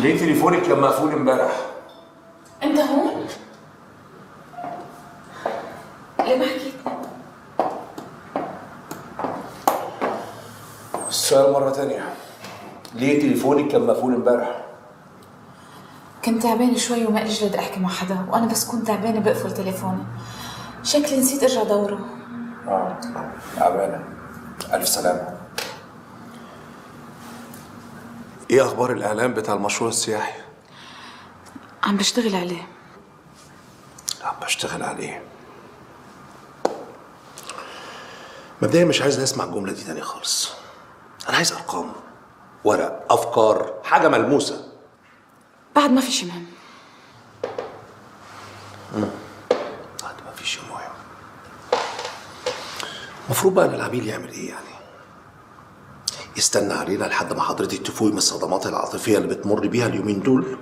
ليه تليفونك كان مقفول امبارح؟ انت هون؟ ليه ما حكيتني؟ السؤال مرة تانية، ليه تليفونك كان مقفول امبارح؟ كنت تعبانة شوي وما إلي جرد أحكي مع حدا، وأنا بس كنت تعبانة بقفل تليفوني. شكلي نسيت أرجع دوره. تعبانة. ألف سلامة. إيه أخبار الإعلان بتاع المشروع السياحي؟ عم بشتغل عليه. عم بشتغل عليه. مبدئيا مش عايز أسمع الجملة دي تاني خالص. أنا عايز أرقام، ورق، أفكار، حاجة ملموسة. بعد ما في شي مهم. بعد ما في شي مهم. المفروض بقى إن العميل يعمل إيه يعني؟ يستنى علينا لحد ما حضرتك تفوقي من الصدمات العاطفية اللي بتمر بيها اليومين دول،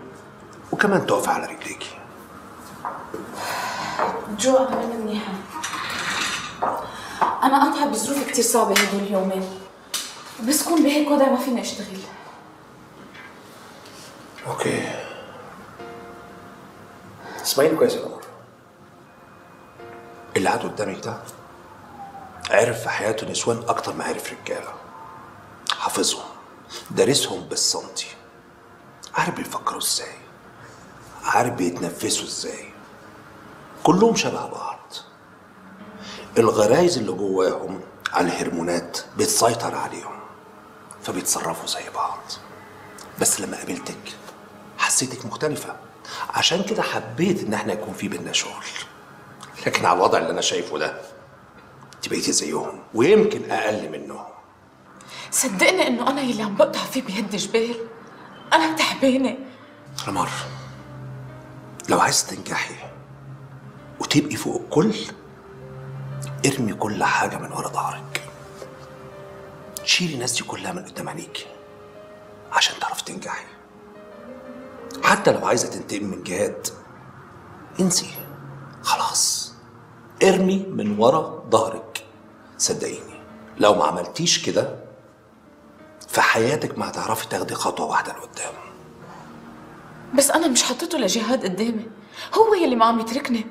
وكمان تقفي على رجليكي. جو أنا من منيحة. أنا قاطعة بظروف كتير صعبة هدول اليومين، بس كون بهيك وضع ما فيني أشتغل. اوكي. اسمعيني كويس يا قمر. اللي قاعد قدامك ده عرف في حياته نسوان اكتر ما عرف رجاله. حافظهم، دارسهم بالسنتي، عارف بيفكروا ازاي، عارف بيتنفسوا ازاي. كلهم شبه بعض. الغرايز اللي جواهم على الهرمونات بتسيطر عليهم، فبيتصرفوا زي بعض. بس لما قابلتك حسيتك مختلفة، عشان كده حبيت ان احنا يكون في بينا شغل. لكن على الوضع اللي انا شايفه ده انت بقيتي زيهم ويمكن اقل منهم. صدقني انه انا يلي عم بقطع فيه بيد جبال. انا تعبانة. رمار، لو عايز تنجحي وتبقي فوق الكل، ارمي كل حاجة من ورا ظهرك. شيلي الناس دي كلها من قدام عينيكي عشان تعرف تنجحي. حتى لو عايزة تنتقم من جهاد، انسي خلاص، ارمي من ورا ظهرك. صدقيني لو ما عملتيش كده في حياتك ما هتعرفي تاخدي خطوة واحدة لقدام. بس أنا مش حطيته لجهاد قدامي، هو يلي ما عم يتركني.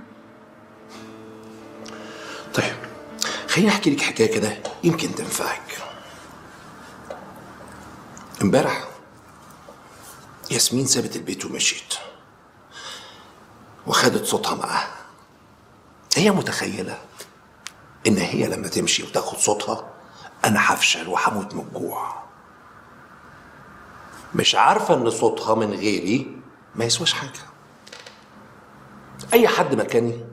طيب خليني أحكي لك حكاية كده يمكن تنفعك. امبارح ياسمين سابت البيت ومشيت وخدت صوتها معاها. هي متخيلة إن هي لما تمشي وتاخد صوتها أنا هفشل وهموت من الجوع. مش عارفة إن صوتها من غيري ما يسواش حاجة. أي حد مكاني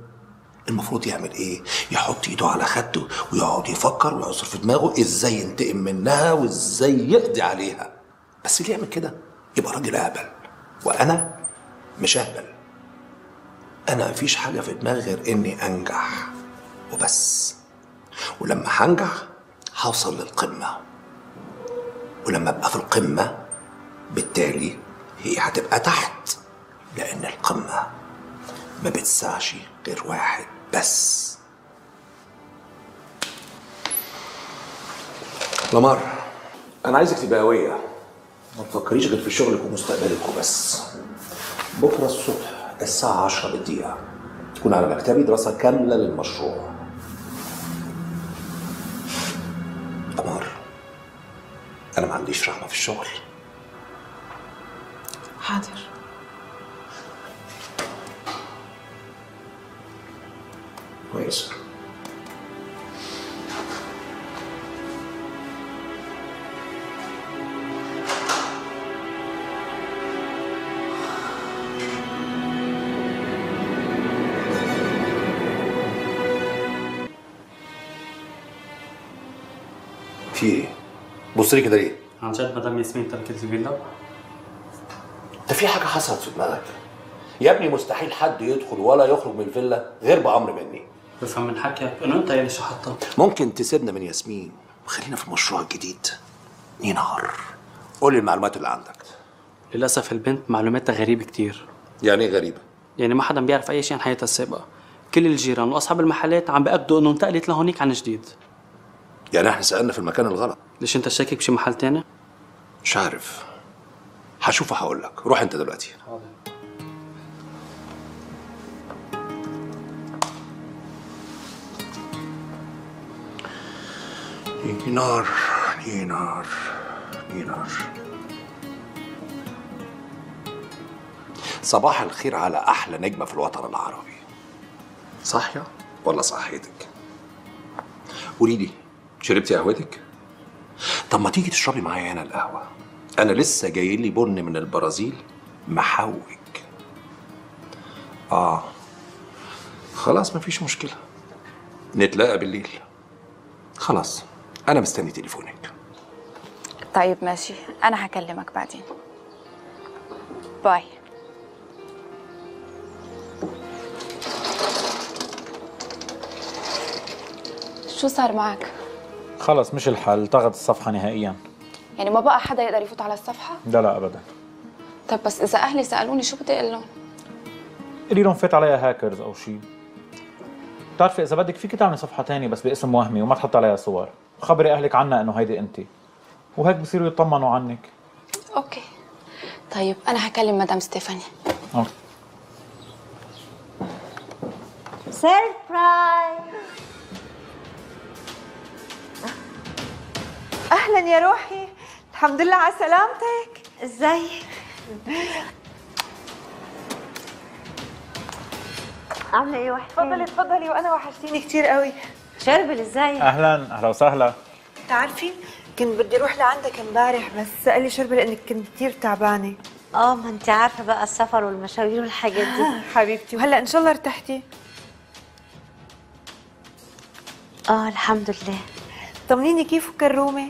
المفروض يعمل إيه؟ يحط إيده على خده ويقعد يفكر ويعصر في دماغه إزاي ينتقم منها وإزاي يقضي عليها. بس اللي يعمل كده يبقى راجل أهبل، وأنا مش أهبل. أنا مفيش حاجة في دماغي غير إني أنجح وبس. ولما هنجح هوصل للقمة، ولما أبقى في القمة بالتالي هي هتبقى تحت، لأن القمة ما بتسعش غير واحد بس. لمار، أنا عايزك تبقى قوية، ما تفكريش غير في شغلك ومستقبلك وبس. بكرة الصبح الساعة 10 بالدقيقة تكون على مكتبي دراسة كاملة للمشروع. قمر، أنا ما عنديش رحمة في الشغل. حاضر. كويس. في ايه؟ بص لي كده ليه؟ عن جد مدام ياسمين تركت الفيلا؟ انت في حاجة حصلت في دماغك؟ يا ابني مستحيل حد يدخل ولا يخرج من الفيلا غير بأمر مني. بفهم من حكيك انه انت يلي شحطها. ممكن تسيبنا من ياسمين وخلينا في المشروع الجديد. نهار، قول لي المعلومات اللي عندك. للاسف البنت معلوماتها غريبه كتير. يعني ايه غريبة؟ يعني ما حدا بيعرف اي شيء عن حياتها السابقه. كل الجيران واصحاب المحلات عم بيأكدوا انه انتقلت لهونيك عن جديد. يعني احنا سألنا في المكان الغلط. ليش انت شاكك بشي محل تاني؟ مش عارف، هشوف وهقول لك. روح انت دلوقتي. نينار نينار نينار، صباح الخير على احلى نجمه في الوطن العربي. صاحيه ولا صحيتك؟ قولي لي، شربتي قهوتك؟ طب ما تيجي تشربي معايا هنا القهوه، انا لسه جاي لي بن من البرازيل محوج. خلاص مفيش مشكله، نتلاقى بالليل. خلاص انا مستني تليفونك. طيب ماشي، أنا هكلمك بعدين. باي. شو صار معك؟ خلص مش الحل، التغت الصفحة نهائيا. يعني ما بقى حدا يقدر يفوت على الصفحة؟ لا أبدا. طيب بس إذا أهلي سألوني شو بدي أقول لهم؟ قولي لهم فات عليها هاكرز أو شيء. بتعرفي إذا بدك فيك تعملي صفحة تانية بس باسم وهمي وما تحط عليها صور، خبري أهلك عنها إنه هيدي أنت، وهيك بصيروا يطمنوا عنك. أوكي. طيب أنا هكلم مدام ستيفاني. أوكي. سيربرايز. اهلا يا روحي، الحمد لله على سلامتك. ازيك؟ عامله ايه وحشتيني؟ تفضلي وانا وحشتيني كثير قوي. شربل ازيك؟ أهلا وسهلا. بتعرفي كنت بدي اروح لعندك امبارح بس قال لي شربل انك كنت كثير تعبانه. ما انت عارفه بقى السفر والمشاوير والحاجات دي. حبيبتي، وهلا ان شاء الله ارتحتي؟ الحمد لله. طمنيني كيف كرومه؟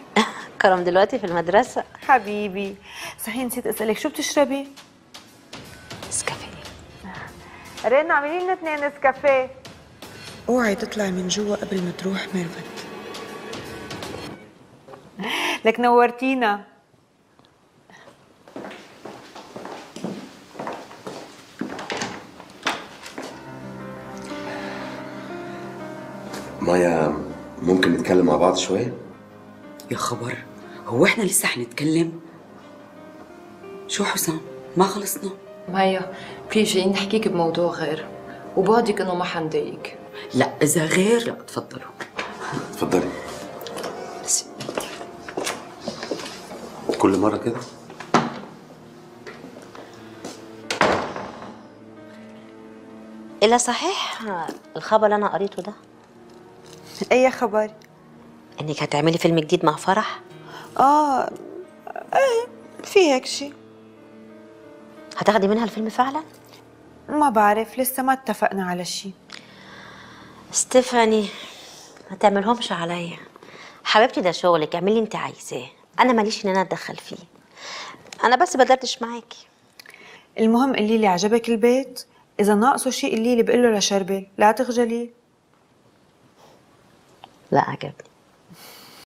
كرم دلوقتي في المدرسه. حبيبي صحيح نسيت اسالك شو بتشربي؟ نسكافيه. رينا اعملي لنا 2 نسكافيه. اوعي تطلعي من جوا قبل ما تروح ميرفت. لك نورتينا. مايا ممكن نتكلم مع بعض شويه؟ يا خبر، هو احنا لسه حنتكلم؟ شو حسام، ما خلصنا؟ مايا في شيء نحكيك بموضوع غير، وبعدك انه ما حنضايقك. لا اذا غير لا تفضلوا. اتفضلي. كل مره كده؟ الا صحيح الخبر اللي انا قريته ده؟ اي خبر؟ انك هتعملي فيلم جديد مع فرح؟ ايه في هيك شيء. هتاخدي منها الفيلم فعلا؟ ما بعرف، لسه ما اتفقنا على شيء. ستيفاني ما تعملهمش عليا حبيبتي، ده شغلك، اعملي انت عايزاه، انا ماليش ان انا اتدخل فيه، انا بس بدردش معاكي. المهم قولي لي عجبك البيت؟ اذا ناقصه شيء قولي لي بقول له لشربل، لا تخجلي. لا عجبني.